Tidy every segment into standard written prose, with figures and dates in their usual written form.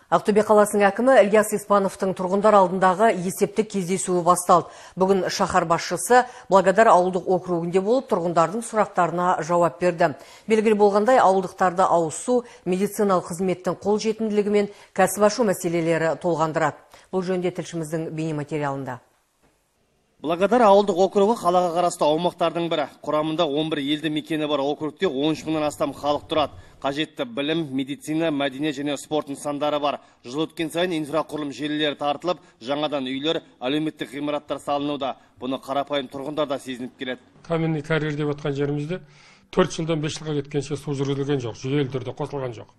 Ақтөбе қаласының әкімі Ильяс Испановтың тұрғындар алдындағы есептік кездесуі басталды. Бүгін шаһар басшысы Благодар ауылдық округінде болып тұрғындардың сұрақтарына жауап берді. Белгілі болғандай, ауылдықтарды ауыз су, медициналық қызметтің қолжетімділігі мен кәсіп ашу мәселелері толғандырады. Бұл жөнінде тілшіміздің бейнематериалында. Благодар ауылдық округі қалаға қарасты аумақтардың бірі. Құрамында 11 елді мекені бар округте 13 мыңнан астам халық тұрады. Қажетті білім, медицина, мәдениет және спорт нысандары бар. Жыл өткен сайын инфрақұрылым желілері тартылып, жаңадан үйлер, әлеуметтік ғимараттар салынуда. Бұны қарапайым тұрғындар да сезініп келеді. Каменный карьер деп отқан жерімізде 4 жылдан 5 жылға кеткенше су жүргізілген жоқ, жүйелі түрде қосылған жоқ.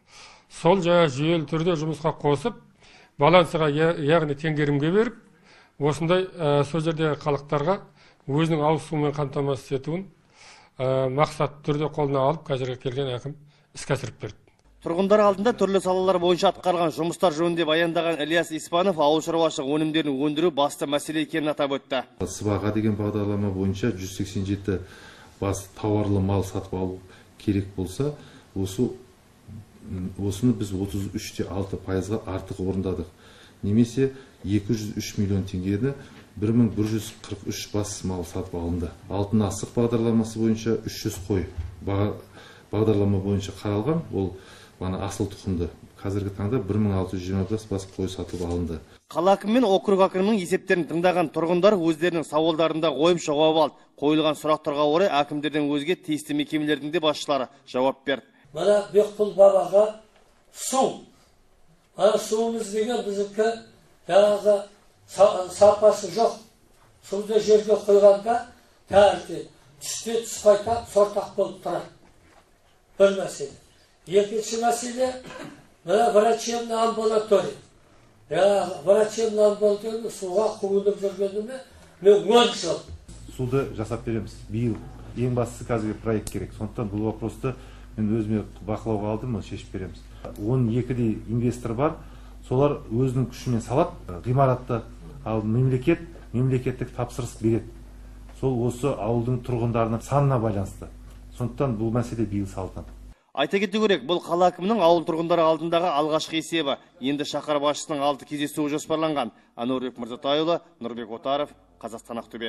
Сол жүйелі түрде жұмысқа қосып, балансыға, яғни теңгерімге беріп, осындай сол жердегі халықтарға өзінің ауыз сумен қамтамасыз етуін мақсат түрде қолына алып, қазірге келген әкім іске асырып берді. Тұрғындар алдында түрлі салалар бойынша атқарған жұмыстар жөнінде баяндаған Ильяс Испанов ауыл шаруашылық өнімдерін өндіру басты мәселе екенін атап өтті. Сыбаға деген бағдарлама бойынша 187 бас тауарлы мал сатып алу керек болса, осыны біз 33,6%-ға артық орындадық. Немесе 203 миллион теңгені 1143 бас мал сатып алынды. Алтын асық бағдарламасы бойынша 300 қой бағдарлама бойынша қаралған, ол асыл тұқымды. Қазіргі таңда 1625 бас қой сатып алынды. Қала әкімі мен округ әкімінің есептерін тыңдаған тұрғындар өздерінің сауалдарында қойып жауап алды. Қойылған сұрақтарға орай әкімдерден өзге тиісті мекемелердің де басшылары жауап берді. Мына Бекқұл бабаға су. Суымыз деген біздікі жаңағы сапасы жоқ. Суды жерге қойғанда тәртіп, түсте тұспайта сортақ болып тұрады. Бір мәселе. Екінші мәселе, мына врачебный амбулатория. Врачебный амбулатория суға қуынып жүргеніме мен 10 жыл. Суды жасап береміз. Биыл ең бастысы қазіргі проект керек. Сондықтан бұл вопросты мен өзіме бақылауға алдым, шешіп береміз. 12-дей инвестор бар. Солар өзінің күшімен салат, ғимаратты, ал мемлекеттік тапсырыс береді. Сол осы ауылдың тұрғындарының санына байланысты. Сондықтан бұл мәселе биыл салынады. Айта кету керек, бұл қала әкімінің ауыл тұрғындары алдындағы алғашқы есебі. Енді шаһар басшысының 6 кездесуі жоспарланған. Нұрбек Мырзатайұлы, Нұрбек Отаров, Қазақстан, Ақтөбе.